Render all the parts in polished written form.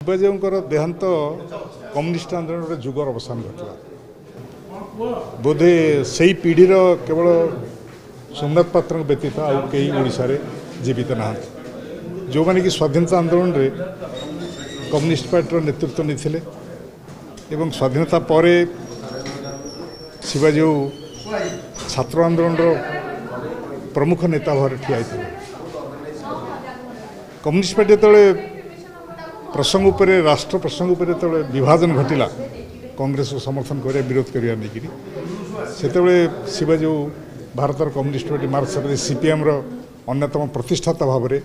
ଶିବାଜୀଙ୍କର ଦେହାନ୍ତ କମ୍ୟୁନିଷ୍ଟ ଆନ୍ଦୋଳନର ଯୁଗର ଅବସାନ ଘଟିଲା। ବୋଧେ ସେଇ ପିଢ଼ିର କେବଳ ସୋମନାଥ ପାତ୍ରଙ୍କ ବ୍ୟତୀତ ଆଉ କେହି ଓଡ଼ିଶାରେ ଜୀବିତ ନାହାନ୍ତି, ଯେଉଁମାନେ କି ସ୍ୱାଧୀନତା ଆନ୍ଦୋଳନରେ କମ୍ୟୁନିଷ୍ଟ ପାର୍ଟିର ନେତୃତ୍ୱ ନେଇଥିଲେ ଏବଂ ସ୍ୱାଧୀନତା ପରେ ଶିବାଜୀ ଛାତ୍ର ଆନ୍ଦୋଳନର ପ୍ରମୁଖ ନେତା ଭାବରେ ଠିଆ ହେଇଥିଲେ। କମ୍ୟୁନିଷ୍ଟ ପାର୍ଟି ଯେତେବେଳେ ପ୍ରସଙ୍ଗ ଉପରେ, ରାଷ୍ଟ୍ର ପ୍ରସଙ୍ଗ ଉପରେ ଯେତେବେଳେ ବିଭାଜନ ଘଟିଲା, କଂଗ୍ରେସକୁ ସମର୍ଥନ କରିବା ବିରୋଧ କରିବା ନେଇକରି, ସେତେବେଳେ ଶିବାଜୀ ଭାରତର କମ୍ୟୁନିଷ୍ଟ ପାର୍ଟି ମାର୍କ୍ସବାଦୀ ସିପିଏମ୍ର ଅନ୍ୟତମ ପ୍ରତିଷ୍ଠାତା ଭାବରେ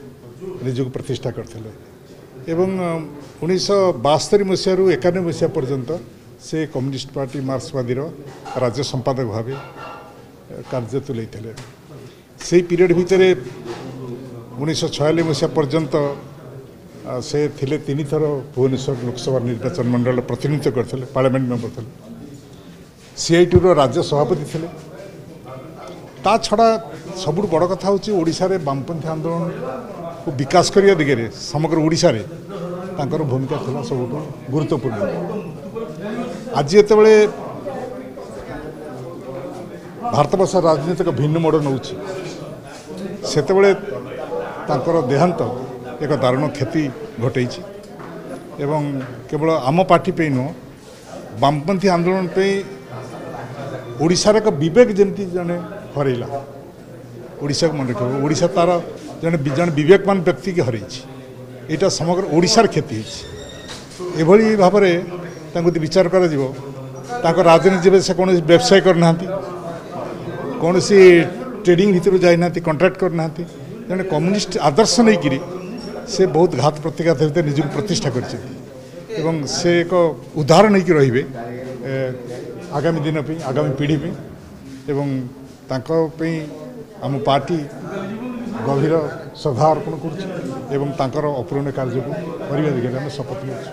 ନିଜକୁ ପ୍ରତିଷ୍ଠା କରିଥିଲେ ଏବଂ 1972 ମସିହାରୁ 91 ମସିହା ପର୍ଯ୍ୟନ୍ତ ସେ କମ୍ୟୁନିଷ୍ଟ ପାର୍ଟି ମାର୍କ୍ସବାଦୀର ରାଜ୍ୟ ସମ୍ପାଦକ ଭାବେ କାର୍ଯ୍ୟ ତୁଲାଇଥିଲେ। ସେଇ ପିରିୟଡ଼ ଭିତରେ 1946 ମସିହା ପର୍ଯ୍ୟନ୍ତ ସେ ଥିଲେ, 3 ଥର ଭୁବନେଶ୍ୱର ଲୋକସଭା ନିର୍ବାଚନ ମଣ୍ଡଳ ପ୍ରତିନିଧିତ୍ୱ କରିଥିଲେ, ପାର୍ଲାମେଣ୍ଟ ମେମ୍ବର ଥିଲେ, ସିଆଇଟିର ରାଜ୍ୟ ସଭାପତି ଥିଲେ। ତା ଛଡ଼ା ସବୁଠୁ ବଡ଼ କଥା ହେଉଛି, ଓଡ଼ିଶାରେ ବାମପନ୍ଥୀ ଆନ୍ଦୋଳନକୁ ବିକାଶ କରିବା ଦିଗରେ ସମଗ୍ର ଓଡ଼ିଶାରେ ତାଙ୍କର ଭୂମିକା ଥିଲା ସବୁଠୁ ଗୁରୁତ୍ୱପୂର୍ଣ୍ଣ। ଆଜି ଯେତେବେଳେ ଭାରତବର୍ଷ ରାଜନୀତିକ ଭିନ୍ନ ମୋଡ଼ ନେଉଛି, ସେତେବେଳେ ତାଙ୍କର ଦେହାନ୍ତ ଏକ ଦାରୁଣ କ୍ଷତି ଘଟେଇଛି ଏବଂ କେବଳ ଆମ ପାର୍ଟି ପାଇଁ ନୁହଁ, ବାମପନ୍ଥୀ ଆନ୍ଦୋଳନ ପାଇଁ ଓଡ଼ିଶାର ଏକ ବିବେକ ଯେମିତି ଜଣେ ହରେଇଲା। ଓଡ଼ିଶାକୁ ମନେ ରଖିବ, ଓଡ଼ିଶା ତା'ର ଜଣେ ବିବେକବାନ ବ୍ୟକ୍ତିକି ହରେଇଛି। ଏଇଟା ସମଗ୍ର ଓଡ଼ିଶାର କ୍ଷତି ହେଇଛି। ଏଭଳି ଭାବରେ ତାଙ୍କୁ ଯଦି ବିଚାର କରାଯିବ, ତାଙ୍କ ରାଜନୀତି ସେ କୌଣସି ବ୍ୟବସାୟ କରିନାହାନ୍ତି, କୌଣସି ଟ୍ରେଡ଼ିଂ ଭିତରୁ ଯାଇନାହାନ୍ତି, କଣ୍ଟ୍ରାକ୍ଟ କରିନାହାନ୍ତି। ଜଣେ କମ୍ୟୁନିଷ୍ଟ ଆଦର୍ଶ ନେଇକରି ସେ ବହୁତ ଘାତ ପ୍ରତିଘାତ ଭିତରେ ନିଜକୁ ପ୍ରତିଷ୍ଠା କରିଛନ୍ତି ଏବଂ ସେ ଏକ ଉଦାହରଣ ହେଇକି ରହିବେ ଆଗାମୀ ଦିନ ପାଇଁ, ଆଗାମୀ ପିଢ଼ି ପାଇଁ ଏବଂ ତାଙ୍କ ପାଇଁ ଆମ ପାର୍ଟି ଗଭୀର ଶ୍ରଦ୍ଧା ଅର୍ପଣ କରୁଛି ଏବଂ ତାଙ୍କର ଅପୂରଣୀୟ କାର୍ଯ୍ୟକୁ କରିବା ଦିଗରେ ଆମେ ଶପଥ ନେଉଛୁ।